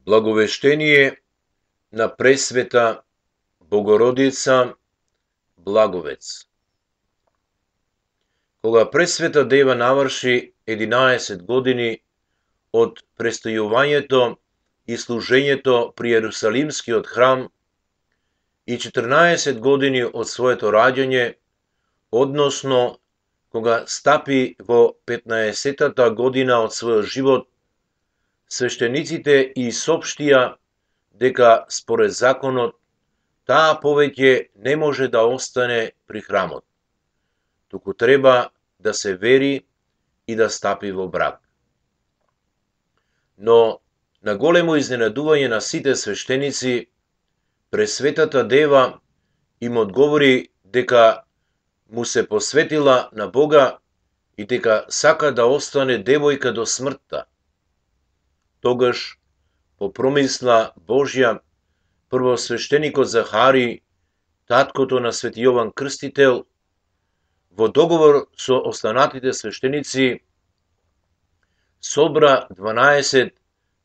Благовештение на Пресвета Богородица Благовец. Кога Пресвета Дева наврши 11 години од престојувањето и служењето при Јерусалимскиот храм и 14 години од своето раѓање, односно кога стапи во 15-тата година од својот живот, свештениците и сопштија дека според законот таа повеќе не може да остане при храмот, туку треба да се вери и да стапи во брак. Но на големо изненадување на сите свештеници, Пресветата Дева им одговори дека му се посветила на Бога и дека сака да остане девојка до смртта. Тогаш, по промисла Божја, првосвештеникот Захари, таткото на Свети Јован Крстител, во договор со останатите свештеници, собра 12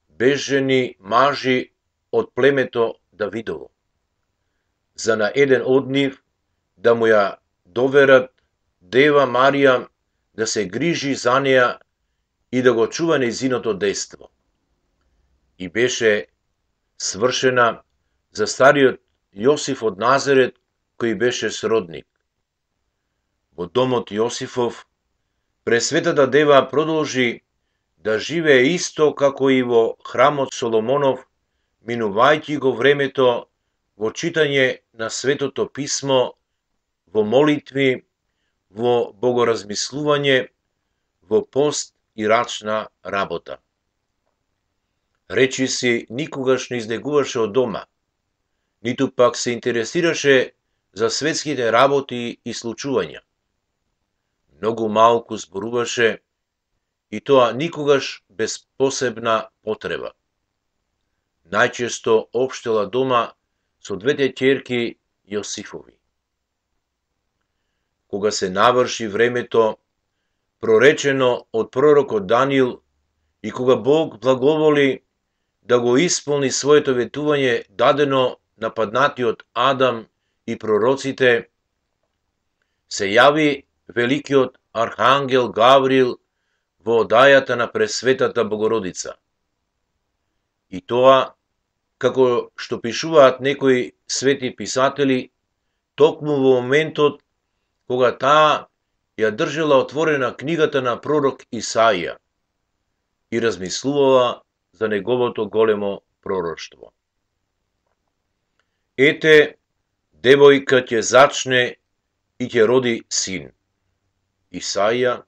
безжени мажи од племето Давидово, за на еден од нив да му ја доверат Дева Марија да се грижи за неја и да го чува нејзиното дејство. И беше свршена за стариот Јосиф од Назарет, кој беше сродник. Во домот Јосифов, Пресветата Дева продолжи да живее исто како и во храмот Соломонов, минувајќи го времето во читање на Светото Писмо, во молитви, во богоразмислување, во пост и рачна работа. Речиси никогаш не излегуваше од дома, ниту пак се интересираше за светските работи и случувања. Многу малку зборуваше, и тоа никогаш без посебна потреба. Најчесто општела дома со двете ќерки Јосифови. Кога се наврши времето проречено од пророкот Даниил и кога Бог благоволи да го исполни своето ветување дадено на паднатиот Адам и пророците, се јави великиот архангел Гавриил во одајата на Пресветата Богородица. И тоа, како што пишуваат некои свети писатели, токму во моментот кога таа ја држела отворена книгата на пророк Исаија и размислувала за неговото големо пророштво. Ете, девојка ќе зачне и ќе роди син. Исаија,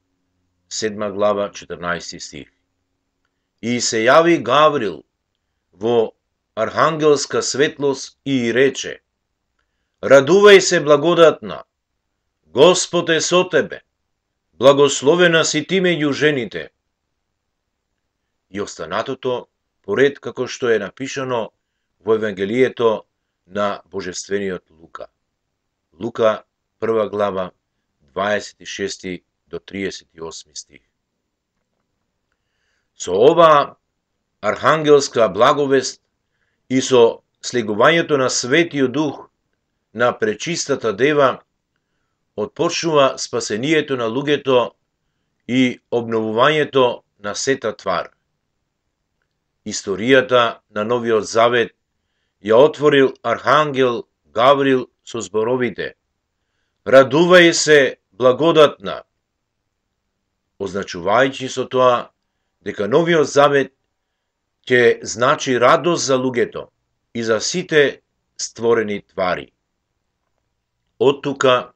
7 глава, 14 стих. И се јави Гаврил во архангелска светлост и рече: Радувај се, благодатна, Господ е со тебе, благословена си ти меѓу жените. И останатото поред како што е напишано во Евангелието на Божествениот Лука. Лука, 1 глава, 26 до 38 стих. Со оваа архангелска благовест и со слегувањето на Светиот Дух на Пречистата Дева, отпочнува спасението на луѓето и обновувањето на сета твар. Историјата на Новиот Завет ја отворил архангел Гаврил со зборовите: Радувај се, благодатна, означувајќи со тоа дека Новиот Завет ќе значи радост за луѓето и за сите створени твари. Од тука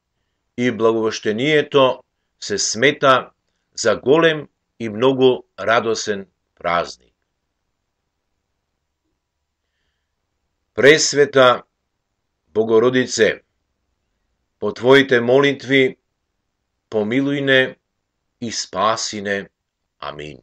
и благовештението се смета за голем и многу радосен празник. Пресвета Богородице, по Твоите молитви помилуј не и спаси не. Амин.